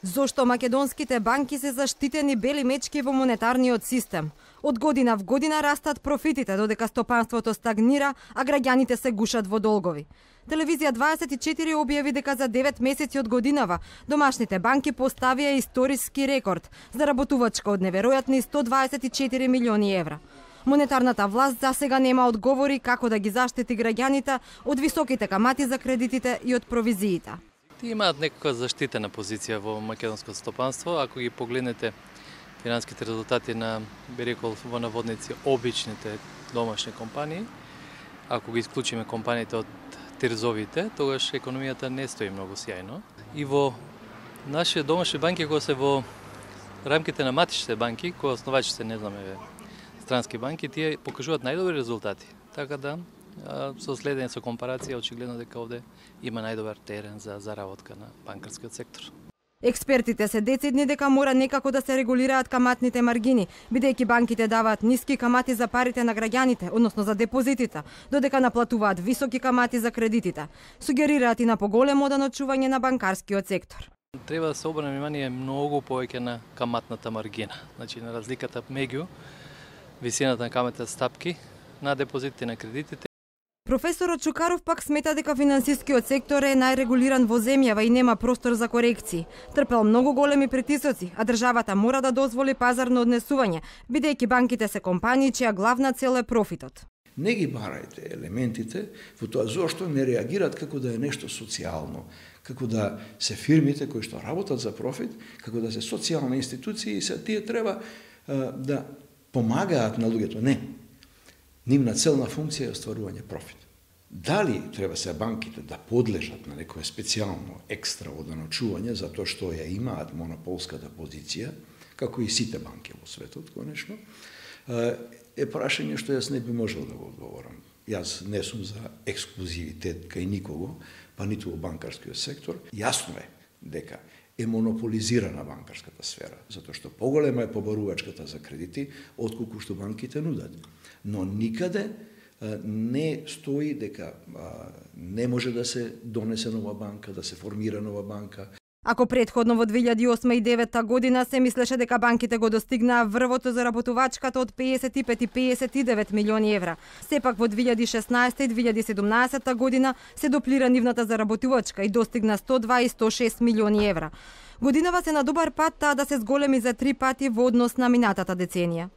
Зошто македонските банки се заштитени бели мечки во монетарниот систем? Од година в година растат профитите, додека стопанството стагнира, а граѓаните се гушат во долгови. Телевизија 24 објави дека за 9 месеци од годинава домашните банки поставија историски рекорд, заработувачка од неверојатни 124 милиони евра. Монетарната власт засега нема одговори како да ги заштити граѓаните од високите камати за кредитите и од провизиите. Ти имаат некаква заштитена позиција во македонското стопанство. Ако ги погледнете финансиските резултати на, би рекол, во наводници, обичните домашни компании, ако ги исклучиме компаниите од терзовите, тогаш економијата не стои многу сјајно. И во нашите домашни банки, кои се во рамките на матичните банки, кои основачите, не знаме, странски банки, тие покажуваат најдобри резултати. Така да, со следење со компарација, очигледно дека овде има најдобар терен за заработка на банкарскиот сектор. Експертите се децидни дека мора некако да се регулираат каматните маргини, бидејќи банките даваат ниски камати за парите на граѓаните, односно за депозитите, додека наплатуваат високи камати за кредитите. Сугерираат и на поголемо даночување на банкарскиот сектор. Треба да се обрне внимание многу повеќе на каматната маргина, значи на разликата меѓу висината на каматните стапки на депозитите и на кредитите. Професорот Чукаров пак смета дека финансискиот сектор е најрегулиран во земјава и нема простор за корекции. Трпел многу големи притисоци, а државата мора да дозволи пазарно однесување, бидејќи банките се компании чија главна цел е профитот. Не ги барајте елементите во тоа зошто не реагираат како да е нешто социјално, како да се фирмите кои што работат за профит, како да се социјални институции и се тие треба да помагаат на луѓето. Не. Нивна целна функција е остварување профит. Дали треба се банките да подлежат на некое специјално екстра оданочување затоа што ја имаат монополската позиција, како и сите банки во светот, конечно, е прашање што јас не би можел да го одговорам. Јас не сум за ексклузивитет кај никого, па ниту во банкарскиот сектор. Јасно е дека е монополизирана банкарската сфера, затоа што поголема е побарувачката за кредити отколку што банките нудат. Но никаде не стои дека не може да се донесе нова банка, да се формира нова банка. Ако претходно во 2008 и 2009 година се мислеше дека банките го достигнаа врвото за работувачката од 55 и 59 милиони евра, сепак во 2016 и 2017 година се доплира нивната заработувачка и достигна 102 и 106 милиони евра. Годинава се на добар пат таа да се зголеми за 3 пати во однос на минатата деценија.